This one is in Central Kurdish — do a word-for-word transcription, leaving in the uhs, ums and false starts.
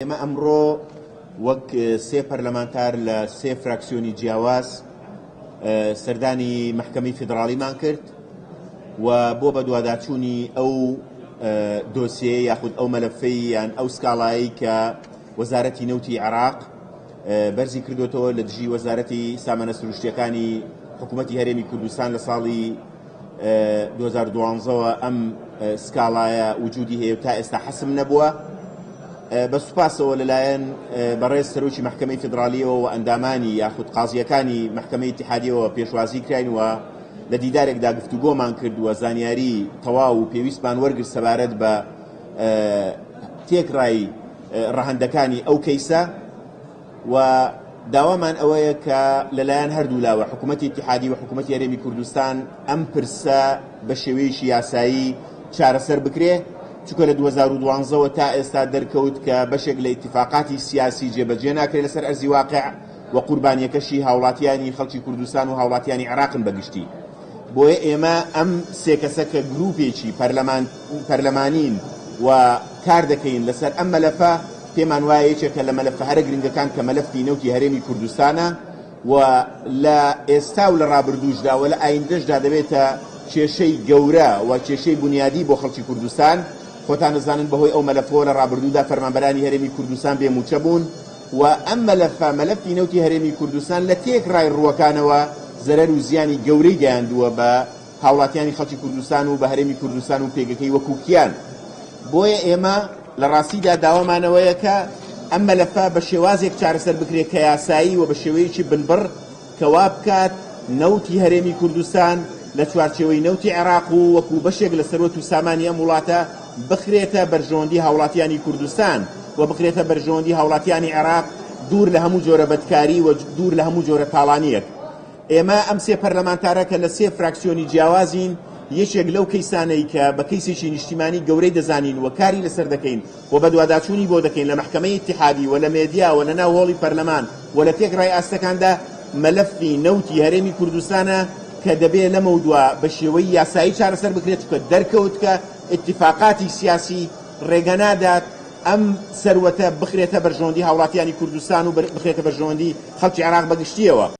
ئێمە ئەمڕۆ وەک سێ پەرلەمانتار لە سێ فراکسیۆنی جیاواز سەردانی مەحکەمەی فیدراڵیمان کرد و بۆ بەدواداچوونی ئەو دۆسیە یاخود ئەو مەلەفەی یان ئەو سکاڵایی کە وەزارەتی نەوتی عێراق بەرزی کردوێتەوە لە دژی وەزارەتی سامانە سروشتیەکانی حکوومەتی هەرێمی کوردستان لە ساڵی دوو هەزار و دوازدە ئەم سکاڵایە وجودی هەیە و تا ئێستا حەسم نەبووە. بە سوپاسەوە لەلایەن بەڕێز سەرۆکی مەحکەمەی فیدراڵیەوە و ئەندامانی یاخود قازیەکانی مەحکەمەی ئیتیحادیەوە پێشوازی کراین و لە دیدارێکدا گفتوگۆمان کرد و زانیاری تەواو و پێویستمان وەرگرت سەبارەت بە تێکڕای ڕەهەندەکانی ئەو کەیسە و داوامان ئەوەیە کە لەلایەن هەردوو لاوە حکوومەتی ئیتیحادی و حکوومەتی هەرێمی کوردستان ئەم پرسە بە شێوەیەکی یاسایی چارەسەر بکرێ، چونکە لە دوو هەزار و دوازدە تا ئێستا دەرکەوت کە بەشێک لە ئیتیفاقاتی سیاسی جێبەجێ ناکرێت لەسەر ئەرزی واقع و قوربانیەکەشی هاوڵاتیانی خەڵکی کوردستان و هاوڵاتیانی عێراقن بەگشتی. بۆیە ئێمە ئەم سێ کەسە کە گروپێکی پەرلەمانین و کار دەکەین لەسەر ئەم مەلەفە، پێمان وایە یەکێکە لە مەلەفە هەرە گرنگەکان کە مەلەفی نەوتی هەرێمی کوردستانە و لە ئێستا و لە ڕابردووشدا و لە ئایندەشدا دەبێتە کێشەی گەورە و کێشەی بنیادی بۆ خەڵکی کوردستان. خۆتان دەزانن بەهۆی ئەو مەلەفەوە لە ڕابردوودا فەرمانبەرانی هەرێمی کوردستان بێموچە بوون و ئەم مەلەفە مەلەفی نەوتی هەرێمی کوردستان لە تێکڕای ڕووەکانەوە زەرەر و زیانی گەورەی گەیاندووە بە هاوڵاتیانی خەڵکی کوردستان و بە هەرێمی کوردستان و پێگەکەی وەکو کیان. بۆیە ئێمە لە ڕاستیدا داوامانەوەیە کە ئەم مەلەفە بە شێوازێک چارەسەر بکرێت کە یاسایی و بە شێوەیەکی بنبڕ کە وا بکات نەوتی هەرێمی کوردستان لە چوارچێوەی نەوتی عێراق و وەکو بەشێک لە سەروەت و سامانی ئەم وڵاتە بخرێتە بەرژەوەندی هاوڵاتیانی کوردستان و بخرێتە بەرژەوەندی هاوڵاتیانی عێراق دوور لە هەموو جۆرە بەدکاری و دوور لە هەموو جۆرە تاڵانیەک. ئێمە ئەم سێ پەرلەمانتارە کە لە سێ فراکسیۆنی جیاوازین، یەکێک لەو کەیسانەی کە بە کەیسێکی نیشتیمانی گەورەی دەزانین و کاری لەسەر دەکەین و بەدواداچوونی بۆ دەکەین لە مەحکەمەی ئیتیحادی و لە مێدیا و لە ناو هۆڵی پەرلەمان و لە تێکڕای ئاستەکاندا مەلەفی نەوتی هەرێمی کوردستانە کە دەبێت لەمەودوا بە شێوەی یاسایی چارەسەر بکرێت، چونکە دەرکەوت کە ئیتیفاقاتی سیاسی ڕێگە نادات ئەم سەروەتە بخرێتە بەرژەوەندی هاوڵاتیانی کوردستان و بخرێتە بەرژەوەندی خەڵکی عێراق بەگشتیەوە.